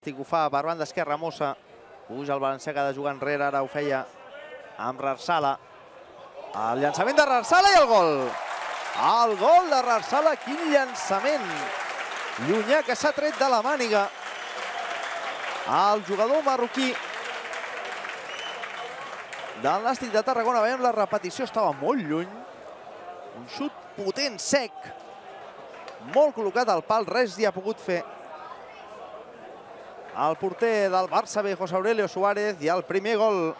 Nàstic ho fa per banda esquerra, Mossa. Puja el valencià que ha de jugar enrere, ara ho feia amb Rarsala. El llançament de Rarsala i el gol. El gol de Rarsala, quin llançament. Llunyà que s'ha tret de la màniga. El jugador marroquí del Nàstic de Tarragona. Veiem la repetició, estava molt lluny. Un xut potent, sec. Molt col·locat al pal, res hi ha pogut fer el porter del Barça B, José Aurelio Suárez, i el primer gol